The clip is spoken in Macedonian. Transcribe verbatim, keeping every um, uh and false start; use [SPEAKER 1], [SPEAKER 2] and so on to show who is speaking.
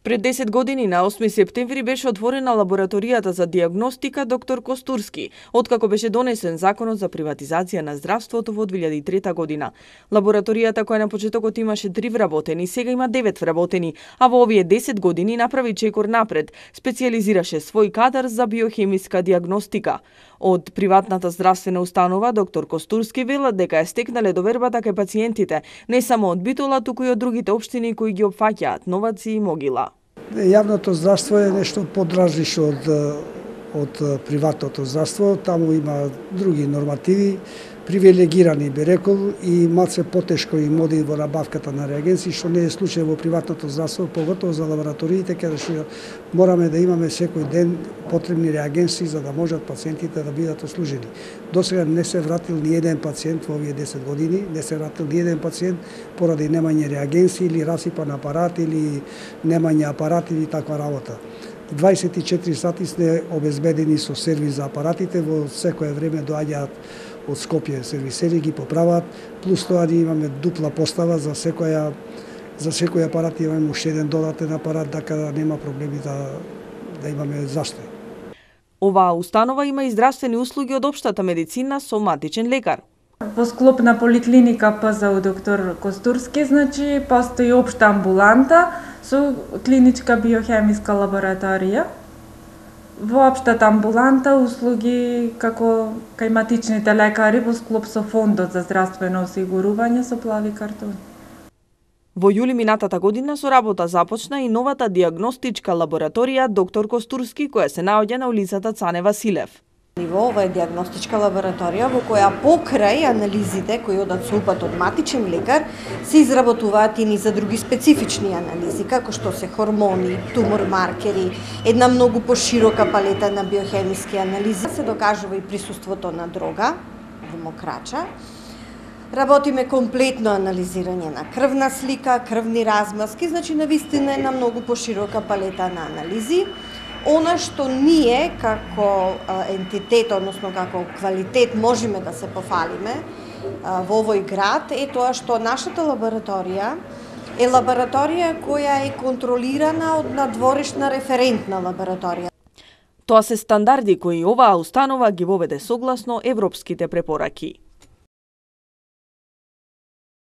[SPEAKER 1] Пред десет години на осми септември беше отворена лабораторијата за дијагностика доктор Костурски, откако беше донесен законот за приватизација на здравството во две илјади и трета година. Лабораторијата, која на почетокот имаше три вработени, сега има девет вработени, а во овие десет години направи чекор напред, специјализираше свој кадар за биохемиска дијагностика. Од приватната здравствена установа доктор Костурски велат дека е стекнале довербата кај пациентите, не само од Битола, туку и од другите општини кои ги опфаќаат Новаци и Могила.
[SPEAKER 2] Јавното здравство е нешто подразлично од од приватното здравство, таму има други нормативи, привилегирани би рекол и малце потешко им оди во набавката на реагенси, што не е случај во приватното здравство, поготово за лабораториите, каде што мораме да имаме секој ден потребни реагенси за да можат пациентите да бидат ослужени. Досега не се вратил ни еден пациент во овие десет години, не се вратил ни еден пациент поради немање реагенси или расипан апарат или немање апарат или таква работа. дваесет и четири сати сте обезбедени со сервис за апаратите, во секое време доаѓаат од Скопје сервисери, ги поправат, плюс тоа ние имаме дупла постава за секоја за секој апарат имаме уште еден додатен апарат, така да нема проблеми да да имаме застој.
[SPEAKER 1] Оваа установа има и здравствени услуги од општата медицина со матичен лекар.
[SPEAKER 3] Во склоп на поликлиника ПЗУ доктор Костурски, значи постои општа амбуланта со клиничка биохемиска лабораторија. Во општата амбуланта услуги како кај матичните лекари во склоп со фондот за здравствено осигурување со плави картони.
[SPEAKER 1] Во јули минатата година со работа започна и новата дијагностичка лабораторија доктор Костурски, која се наоѓа на улицата Цане Василев.
[SPEAKER 4] Ова е дијагностичка лабораторија во која покрај анализите кои одат со упат од матичен лекар се изработуваат и за други специфични анализи, како што се хормони, тумор маркери, една многу поширока палета на биохемиски анализи. Се докажува и присуството на дрога во мокрача. Работиме комплетно анализирање на крвна слика, крвни размазки, значи навистина една многу поширока палета на анализи. Она што ние како ентитет, односно како квалитет можеме да се пофалиме во овој град е тоа што нашата лабораторија е лабораторија која е контролирана од надворешна референтна лабораторија.
[SPEAKER 1] Тоа се стандарди кои оваа установа ги воведе согласно европските препораки.